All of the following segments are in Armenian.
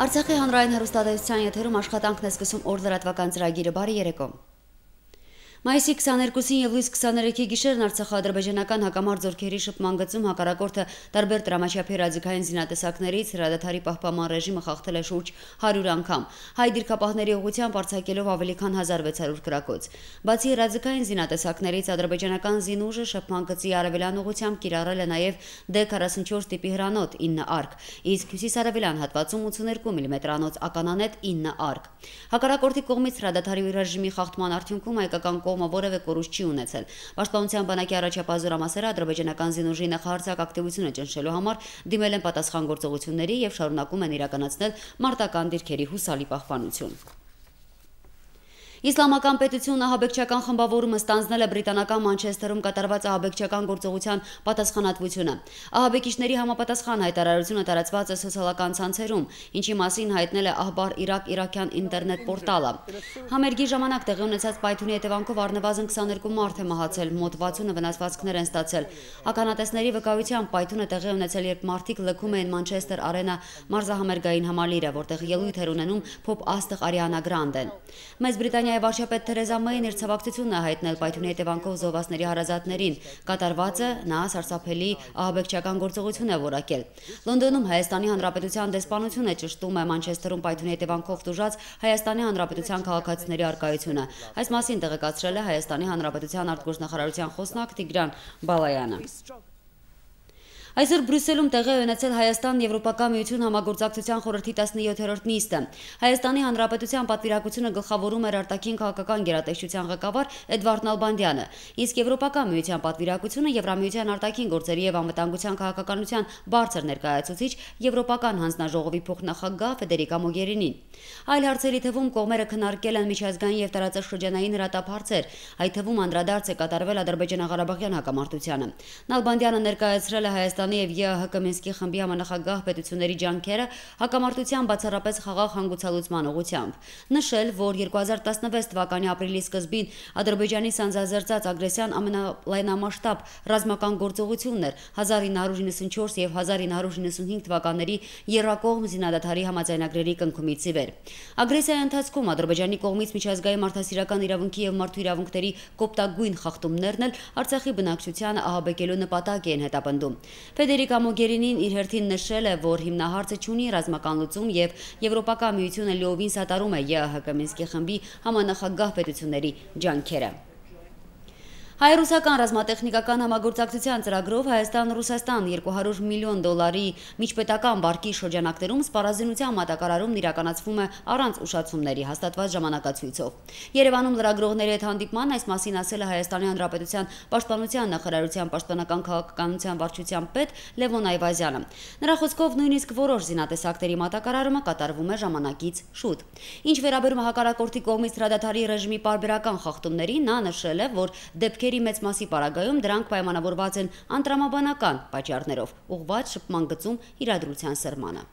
Արցախի հանրային հեռուստատեսության եթերում աշխատանքն է սկսում օր լրատվական ծրագիրը բարի երեկո։ Մայիսի 22-ին եւ լույս 23-ի գիշերն արցախա-ադրբեջանական հակամարտ զորքերի շփման գծում հակառակորդը տարբեր տրամաչափի ռազմական զինատեսակներից հրադադարի պահպանման ռեժիմը խախտել է շուրջ 100 անգամ, հայ դիրքապահների ուղղությամբ արձակելով ավելի քան 1600 կրակոց։ Բացի ռազմական զինատեսակներից ադրբեջանական զինուժը շփման գծի արևելյան ուղղությամբ կիրառել է նաեւ D44 տիպի հրանոթ 9 արկ, իսկ հյուսիսարևելյան հատվածում 82 մմ-անոց ականանետ 9 արկ։ Հակառակորդի կողմից հրադադարի ռեժիմի խախտման արդյունքում հայկական կողմը որևէ կորուստ չի ունեցել։ Պաշտպանության բանակի առաջապահ զորամասերը ադրբեջանական զինուժի նախահարձակ ակտիվությունը ճնշելու համար դիմել են պատասխան գործողությունների եւ շարունակում են իրականացնել մարտական դիրքերի հուսալի պահպանություն։ Իսլամական պետությունը ահաբեկչական խմբավորումը ստանձնել է բրիտանական Մանչեսթերում կատարված ահաբեկչական գործողության պատասխանատվությունը։ Ահաբեկիչների համապատասխան հայտարարությունը տարածված է սոցիալական ցանցերում, ինչի մասին հայտնել է Ահբար Իրաք իրաքյան ինտերնետ պորտալը։ Համերգի ժամանակ տեղի ունեցած պայթյունի հետևանքով առնվազն 22 մարդ է մահացել, մոտ 60-ը վնասվածքներ են ստացել։ Ականատեսների վկայությամբ պայթյունը տեղի ունեցել, երբ մարդիկ լքում էին Մանչեսթեր Արենա մարզահամերգային համալիրը, որտեղ ելույթ էր ունենում փոփ աստղ Արիանա Գրանդեն։ Մեծ Բրիտանիայի վարչապետ Թերեզա Մեյն իր ցավակցությունն է հայտնել պայթյունի հետևանքով զոհվածների հարազատներին։ Կատարվածը նա սարսափելի ահաբեկչական գործողություն է որակել։ Լոնդոնում Հայաստանի Հանրապետության դեսպանությունը ճշտում է Մանչեսթերում պայթյունի հետևանքով տուժած Հայաստանի Հանրապետության քաղաքացիների առկայությունը։ Այս մասին տեղեկացրել է Հայաստանի Հանրապետության արտգործնախարարության խոսնակ Տիգրան Բալայանը։ Այսօր Բրյուսելում տեղի ունեցել Հայաստան-Եվրոպական միություն համագործակցության խորհրդի 17-րդ նիստը։ Հայաստանի Հանրապետության պատվիրակությունը գլխավորում էր արտաքին քաղաքական գերատեսչության ղեկավար Էդվարդ Նալբանդյանը, իսկ Եվրոպական միության պատվիրակությունը Եվրամիության արտաքին գործերի եւ անվտանգության քաղաքականության բարձր ներկայացուցիչ Եվրոպական հանձնաժողովի փոխնախագահ Ֆեդերիկա Մոգերինին։ Այլ հարցերի թվում կողմերը քննարկել են միջազգային եւ տարածաշրջանային հրատապ հարցեր, այդ թվում անդրադարձ է կատարվել Ադրբեջան-Ղարաբաղյան հակամարտությանը։ Նալբանդյանը ներկայացրել է Հայաստանի եւ ԵԱՀԿ Մինսկի խմբի համանախագահ պետությունների ջանքերը հակամարտության բացառապես խաղաղ հանգուցալուծման ուղղությամբ, նշել, որ 2016 թվականի ապրիլի սկզբին Ադրբեջանի սանձազերծած ագրեսիան ամենալայնամասշտաբ ռազմական գործողությունն էր 1994 եւ 1995 թվականների եռակողմ զինադադարի համաձայնագրերի կնքումից ի վեր։ Ագրեսիայի ընթացքում Ադրբեջանի կողմից միջազգային մարդասիրական իրավունքի եւ մարդու իրավունքների կոպտագույն խախտումներն էլ Արցախի բնակչությանը ահաբեկելու նպատակ են հետապնդում։ Ֆեդերիկա Մոգերինին իր հերթին նշել է, որ հիմնահարցը չունի ռազմական լուծում եւ Եվրոպական միությունը լիովին սատարում է ԵԱՀԿ Մինսկի խմբի համանախագահ պետությունների ջանքերը։ Հայ-ռուսական ռազմատեխնիկական համագործակցության ծրագրով Հայաստան-Ռուսաստան 200 միլիոն դոլարի միջպետական վարկի շրջանակներում սպառազինության մատակարարումն իրականացվում է առանց ուշացումների հաստատված ժամանակացույցով։ Երևանում լրագրողների հետ հանդիպման այս մասին ասել է Հայաստանի Հանրապետության Պաշտպանության նախարարության պաշտպանական քաղաքականության վարչության պետ Լևոն Այվազյանը։ Նրա խոսքով նույնիսկ որոշ զինատեսակների մատակարարումը կատարվում է ժամանակից շուտ։ Ինչ վերաբերում է հակառակորդի կողմից հրադադարի ռեժիմի պարբերական խախտումներին, նա նշել է, որ դեպքերի մեծ մասի պարագայում դրանք պայմանավորված են անտրամաբանական պատճառներով, ուղղված շփման գծում իրադրության սրմանը։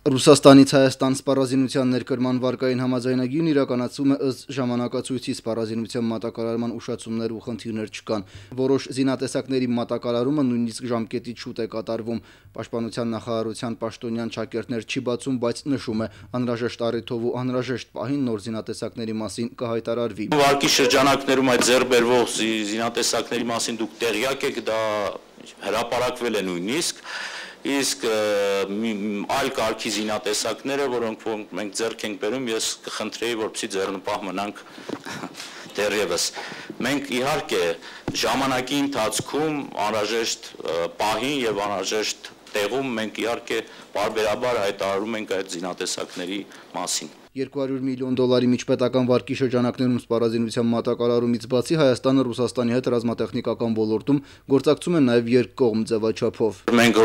Ռուսաստանից Հայաստան սպառազինության ներկրման վարկային համաձայնագիրն իրականացվում է ըստ ժամանակացույցի սպառազինության մատակարարման ուշացումներ ու խնդիրներ չկան։ Որոշ զինատեսակների մատակարարումը նույնիսկ ժամկետից շուտ է կատարվում։ Պաշտպանության նախարարության պաշտոնյան ճակերտներ չի բացում, բայց նշում է, անհրաժեշտ առիթով ու անհրաժեշտ պահին նոր զինատեսակների մասին կհայտարարվի։ Վարկի շրջանակներում այդ ձեռբերվող զինատեսակների մասին դուք տեղյակ եք, դա հրապարակվել է նույնիսկ իսկ այլ կարգի զինատեսակները, որոնք մենք ձեռք ենք բերում, ես կխնդրեի, որպեսզի ձեռնպահ մնանք դեռևս։ Մենք իհարկե ժամանակի ընթացքում անհրաժեշտ պահին եւ անհրաժեշտ տեղում մենք իհարկե բարբերաբար հայտարարում ենք այդ զինատեսակների մասին։ 200 միլիոն դոլարի միջպետական վարկի շրջանակներում սպառազինության մատակարարումից բացի Հայաստանը Ռուսաստանի հետ ռազմատեխնիկական ոլորտում գործակցում է նաև երկկողմ ձևաչափով։ Մենք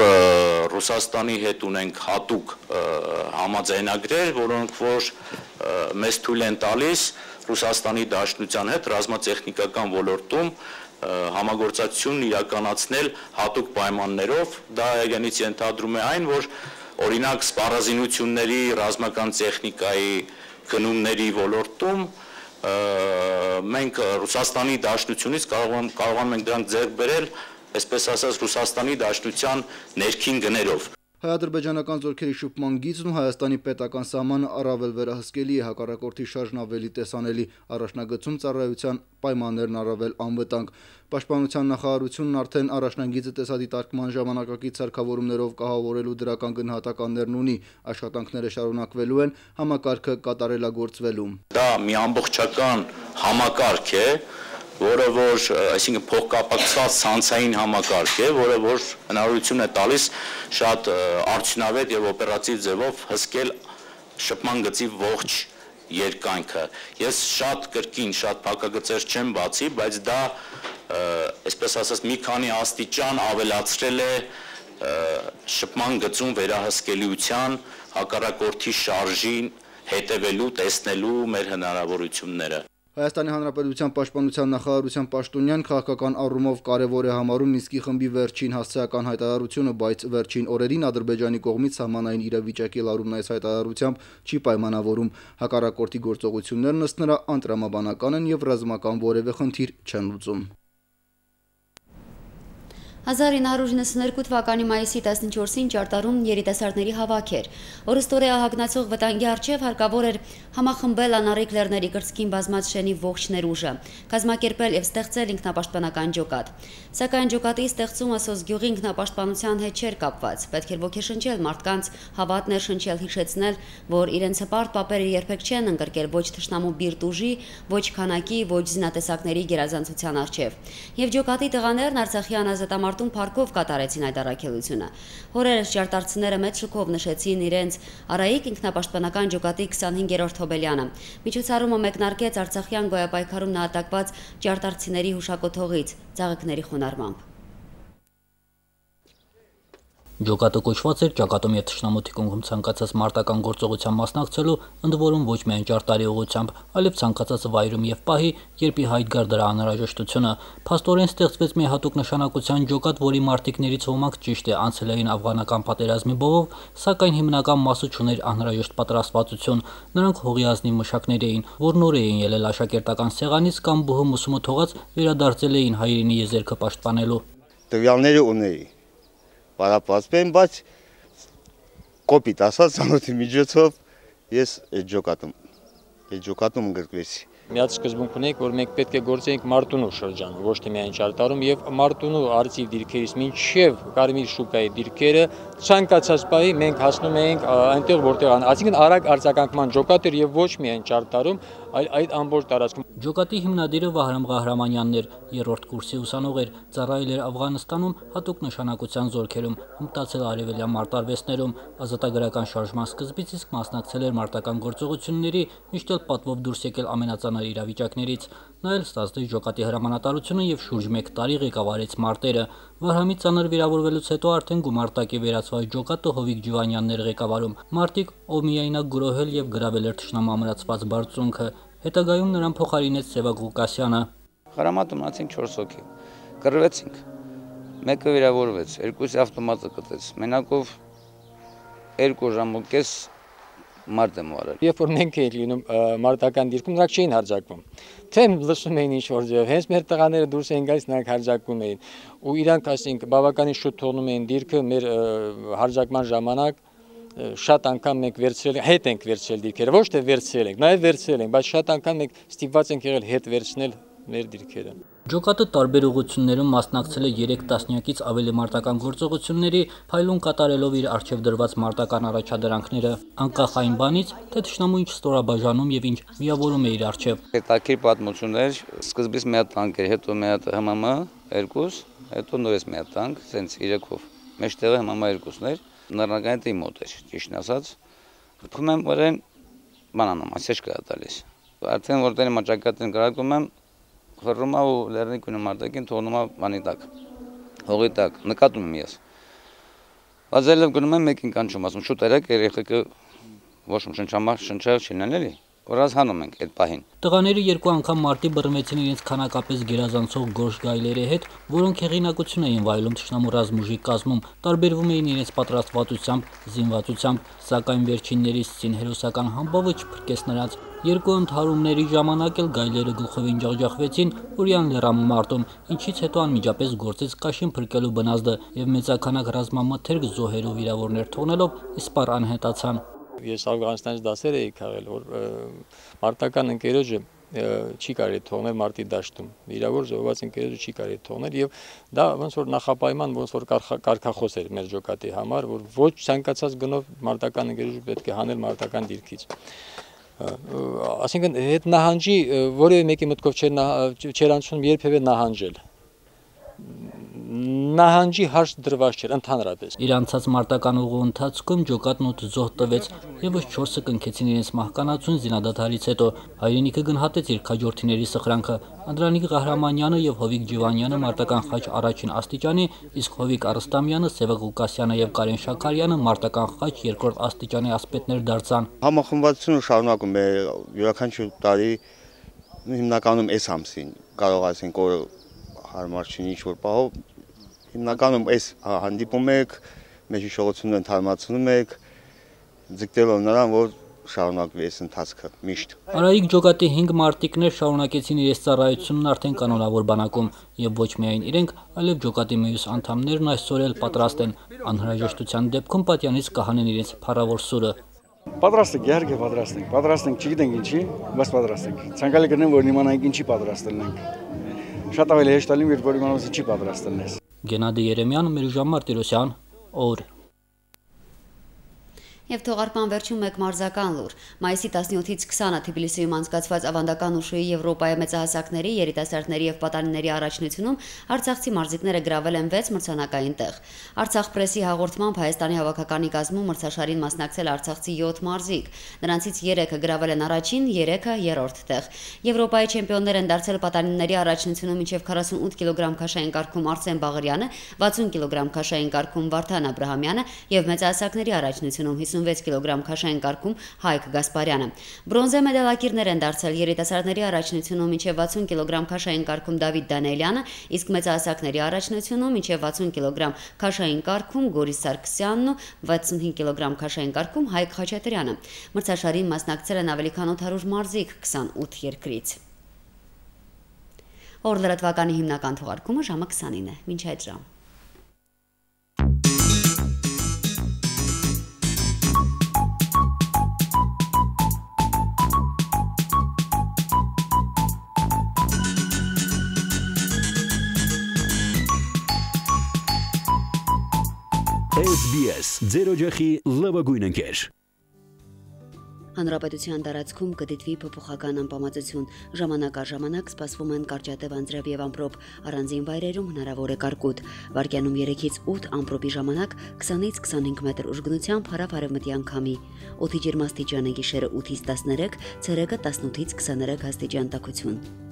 Ռուսաստանի հետ ունենք հատուկ համաձայնագրեր, որոնք որ մեզ թույլ են տալիս Ռուսաստանի Դաշնության հետ ռազմատեխնիկական ոլորտում համագործակցություն իրականացնել հատուկ պայմաններով։ Դա իրենից ենթադրում է այն, որ օրինակ սպառազինությունների ռազմական տեխնիկայի գնումների ոլորտում մենք Ռուսաստանի Դաշնությունից կարողանում ենք դրանք ձեռք բերել, այսպես ասած, Ռուսաստանի Դաշնության ներքին գներով։ Հայ-ադրբեջանական զորքերի շփման գիծն ու Հայաստանի պետական սահմանը առավել վերահսկելի է, հակառակորդի շարժն ավելի տեսանելի, առաջնագծում ծառայության պայմաններն առավել անվտանգ։ Պաշտպանության նախարարությունն արդեն առաջնագիծը տեսադիտարկման ժամանակակից սարքավորումներով կահավորելու դրական գնահատականներն ունի, աշխատանքները շարունակվելու են, համակարգը կատարելագործվելու։ Դա մի ամբողջական համակարգ է, որը որ, այսինքն փոխկապակցված ցանցային համակարգ է, որը որ հնարավորություն է տալիս շատ արդյունավետ եւ օպերատիվ ձևով հսկել շփման գծի ողջ երկայնքը։ Ես շատ կրկին, շատ փակագծեր չեմ բացի, բայց դա, այսպես ասած, մի քանի աստիճան ավելացրել է շփման գծում վերահսկելիության, հակառակորդի շարժին հետևելու, տեսնելու մեր հնարավորությունները։ Հայաստանի Հանրապետության պաշտպանության նախարարության պաշտոնյան քաղաքական առումով կարևոր է համարում Մինսկի խմբի վերջին հասցեական հայտարարությունը, բայց վերջին օրերին Ադրբեջանի կողմից սահմանային իրավիճակի լարումն այս հայտարարությամբ չի պայմանավորում։ Հակառակորդի գործողություններն ըստ նրա անտրամաբանական են եւ ռազմական որևէ խնդիր չեն լուծում։ 1992 թվականի մայիսի 14-ին ճարտարում երիտասարդների հավաք էր։ Օրըստօրե ահագնացող վտանգի առջև հարկավոր էր համախմբել անառիկ լեռների կրծքին բազմած շենի ողջ ներուժը, կազմակերպել եւ ստեղծել ինքնապաշտպանական ջոկատ։ Սակայն ջոկատի ստեղծումը Սոսգյուղի ինքնապաշտպանության հետ չէր կապված։ Պետք էր ոգեշնչել մարդկանց, հավատ ներշնչել, հիշեցնել, որ իրենց հպարտ պապերը երբեք չեն ընկրկել ոչ թշնամու բիրտ ուժի, ոչ քանակի, ոչ զինատեսակների գերազանցության առջև։ Եվ ջոկատի տղաներն Արցախյան ազատամարտում փառքով կատարեցին այդ առաքելությունը։ Հորերս ճարտարցիները մեծ շուկով նշեցին իրենց Արայիկ ինքնապաշտպանական ջոկատի 25-րդ հոբելյանը։ Միջոցառումը մեկնարկեց Արցախյան գոյապայքարում նահատակված ճարտարցիների հուշակոթողից ծաղիկների խոնարհմամբ։ Ջոկատը կոչված էր ճակատում եւ թշնամու թիկունքում ցանկացած մարտական գործողության մասնակցելու, ընդ որում ոչ միայն ճարտարի ուղղությամբ, այլև ցանկացած վայրում եւ պահի, երբ ի հայտ գար դրա անհրաժեշտությունը։ Փաստորեն ստեղծվեց մի հատուկ նշանակության ջոկատ, որի մարտիկներից ոմանք ճիշտ է անցել էին աֆղանական պատերազմի բովով, սակայն հիմնական մասը չուներ անհրաժեշտ պատրաստվածություն։ Նրանք հողի ազնիվ մշակներ էին, որ նոր էին ելել աշակերտական սեղանից կամ բուհում ուսումը թողած վերադարձել էին հայրենի եզերքը պաշտպանելու։ Տվյալները ունեի Պարապացվեն, բայց կոպիտ ասած ցանոթի միջոցով ես այդ ջոկատում գրկվեցի։ Միած սկզբունք ունենք, որ մենք պետք է գործենք Մարտունու շրջանում, ոչ թե միայն ճարտարում, եւ Մարտունու արծիվ դիրքերից մինչև Կարմիր շուկայի դիրքերը ցանկացած պահի մենք հասնում էինք այնտեղ, որտեղ այսինքն արագ արձագանքման ջոկատ էր եւ ոչ միայն ճարտարում, այլ այդ ամբողջ տարածքում։ Ջոկատի հիմնադիրը Վահրամ Ղահրամանյանն էր, 3-րդ կուրսի ուսանող էր, ծառայել էր Աֆղանստանում հատուկ նշանակության զորքերում, հմտացել արևելյան մարտարվեստներում, ազատագրական շարժման սկզբից իսկ մասնակցել էր մարտական գործողությունների, միշտ էլ պատվով դուրս եկել ամենածանր իրավիճակներից։ Նա էլ ստացել ջոկատի հրամանատարությունը եւ շուրջ 1 տարի ղեկավարեց մարտերը։ Վահրամի ծանր վիրավորվելուց հետո արդեն գումարտակի վերածված ջոկատը Հովիկ Ջիվանյանն էր ղեկավարում։ Մարտիկ, ով միայնակ գրոհել եւ գրավել էր թշնամու ամրացված բարձունքը, հետագայում նրան փոխարինեց Սևակ Ղուկասյանը։ Խրամատում մնացինք 4 հոգի։ Կռվեցինք։ Մեկը վիրավորվեց, 2-ի ավտոմատը կտեց։ Մենակով 2 ժամ ու կես մարդ եմ արել։ Երբ որ մենք էինք լինում մարտական դիրքում, նրանք չէին հարձակվում։ Թե լսում էին ինչ-որ ձև, հենց մեր տղաները դուրս էին գալիս, նրանք հարձակվում էին։ Ու իրանք, ասենք, բավականին շուտ թողնում էին դիրքը մեր հարձակման ժամանակ շատ անգամ մենք հետ ենք վերցրել դիրքերը, ոչ թե վերցրել ենք, նաև վերցրել ենք, բայց շատ անգամ մենք ստիպված ենք եղել հետ վերցնել մեր դիրքերը։ Ջոկատը տարբեր ուղղություններում մասնակցել է 3 տասնյակից ավելի մարտական գործողությունների, փայլուն կատարելով իր առջև դրված մարտական առաջադրանքները, անկախ այն բանից, թե թշնամու ինչ ստորաբաժանում եւ ինչ միավորում է իր առջև։ Հետաքրքիր պատմություններ, սկզբից մի հատ տանկ էր, հետո մի հատ ՀՄՄ 2, հետո նորից մի հատ տանկ, սենց 3-ով։ Մեջտեղը ՀՄՄ 2-ն էր, նռնականետի մոտ էր, ճիշտն ասած։ Փում եմ որեն բանանամ, ասեջ կա տալիս։ Արդեն որտեղ մաճակատին գրակում եմ խռում ու լեռնիկունը մարտակին թողնում բանի տակ, հողի տակ, նկատում եմ ես։ Վազելով գնում եմ մեկին կանչում, ասում շուտ երեք երեխեքը ոչ շնչամախ շնչել չլինեն էլի։ որոնց հանում ենք այդ պահին։ Տղաները երկու անգամ մարտի բռնվեցին իրենց քանակապես գերազանցող գորշ գայլերի հետ, որոնք հեղինակություն էին վայելում թշնամու ռազմուժի կազմում, տարբերվում էին իրենց պատրաստվածությամբ, զինվածությամբ, սակայն վերջիններից սինհերոսական համբավը չփրկեց նրանց։ Երկու ընդհարումների ժամանակ էլ գայլերը գլխովին ջախջախվեցին Օրյան լեռան մարտում, ինչից հետո անմիջապես գործեց կաշին փրկելու բնազդը եւ մեծականակ ռազմամթերք զոհեր ու վիրավորներ թողնելով իսպառ անհետացան։ Ես Աֆղանստանից դասեր էի քաղել, որ մարտական ընկերոջը չի կարելի թողնել մարտի դաշտում։ Վիրավոր զոհված ընկերոջը չի կարելի թողնել եւ դա ոնց որ նախապայման, ոնց որ կարգախոս էր մեր ջոկատի համար, որ ոչ ցանկացած գնով մարտական ընկերոջը պետք է հանել մարտական դիրքից։ Այսինքն այդ նահանջի որևէ մեկի մտքով չէր անցնում երբևէ նահանջել։ Նահանջի հարց դրված չէր ընդհանրապես։ Իր անցած մարտական ուղու ընթացքում ջոկատն 8 զոհ տվեց, եւս 4-ը կնքեցին իրենց մահկանացուն զինադադարից հետո։ Հայրենիքը գնահատեց իր քաջորդիների սխրանքը։ Անդրանիկ Ղահրամանյանը եւ Հովիկ Ջիվանյանը մարտական խաչ առաջին աստիճանի, իսկ Հովիկ Արստամյանը, Սևակ Ղուկասյանը եւ Կարեն Շաքարյանը մարտական խաչ երկրորդ աստիճանի ասպետներ դարձան։ Համախմբվածությունը շարունակում է յուրաքանչյուր տարի հիմնականում այս ամսին կարող ասենք որ հարմար չի ինչ-որ պահով հիմնականում այս հանդիպում եք, մեր հիշողությունները ընդհանրացնում եք, ձգտելով նրան, որ շարունակվի այս ընթացքը միշտ։ Արայիկ ջոկատի 5 մարտիկներ շարունակեցին իրենց ծառայությունն արդեն կանոնավոր բանակում եւ ոչ միայն իրենք, այլև ջոկատի մյուս անդամներն այսօր էլ պատրաստ են անհրաժեշտության դեպքում պատյանից կհանեն իրենց փառավոր սուրը։ Պատրաստ ենք, իհարկե պատրաստ ենք, չգիտենք ինչի, բայց պատրաստ ենք։ Ցանկալի կնեմ, որ իմանանք ինչի պատրաստ ենք։ Շատ ավելի հեշտ ալիմ, երբ որ իմանալուց ինչի պատրաստ ենք։ Գենադի Երեմյան, Միրժան Մարտիրոսյան, օր։ Եվ թողարկման վերջում մեկ մարզական լուր։ Մայիսի 17-ից 20-ը Թբիլիսիում անցկացված ավանդական ուշուի Եվրոպայի մեծահասակների, երիտասարդների եւ պատանիների առաջնությունում արցախցի մարզիկները գրավել են 6 մրցանակային տեղ։ Արցախ պրեսի հաղորդմամբ Հայաստանի հավաքականի կազմում մրցաշարին մասնակցել արցախցի 7 մարզիկ։ Նրանցից 3-ը գրավել են առաջին, 3-ը երրորդ տեղ։ Եվրոպայի չեմպիոններ են դարձել պատանիների առաջնությունում մինչև 48 կիլոգրամ քաշային կարգում Արսեն Բաղարյանը, 60 կիլոգրամ քաշային կարգում Վարդան Աբրահամյանը եւ մեծահասակների առաջնությունում 56 կիլոգրամ քաշային կարգում Հայկ Գասպարյանը։ Բրոնզե մեդալակիրներ են դարձել երիտասարդների առաջնությունում մինչև 60 կիլոգրամ քաշային կարգում Դավիթ Դանիելյանը, իսկ մեծահասակների առաջնությունում մինչև 60 կիլոգրամ քաշային կարգում Գորիս Սարգսյանն ու 65 կիլոգրամ քաշային կարգում Հայկ Խաչատրյանը։ Մրցաշարին մասնակցել են ավելի քան 800 մարզիկ 28 երկրից։ Օր լրատվականի հիմնական թողարկումը ժամը 29 է։ Մինչ այդ ժամ։ SBS ձեր օջախի լավագույն ընկեր։ Հանրապետության տարածքում կդիտվի փոփոխական անպամացություն, ժամանակ առ ժամանակ սպասվում են կարճատև անձրև եւ ամպրոպ, առանձին վայրերում հնարավոր է կարկուտ։ Վարկյանում 3-ից 8 ամպրոպի ժամանակ 20-ից 25 մետր ուժգնությամբ հարավ-արևմտյան քամի։ Օդի ջերմաստիճանը գիշերը 8-ից 13, ցերեկը 18-ից 23 աստիճան տաքություն։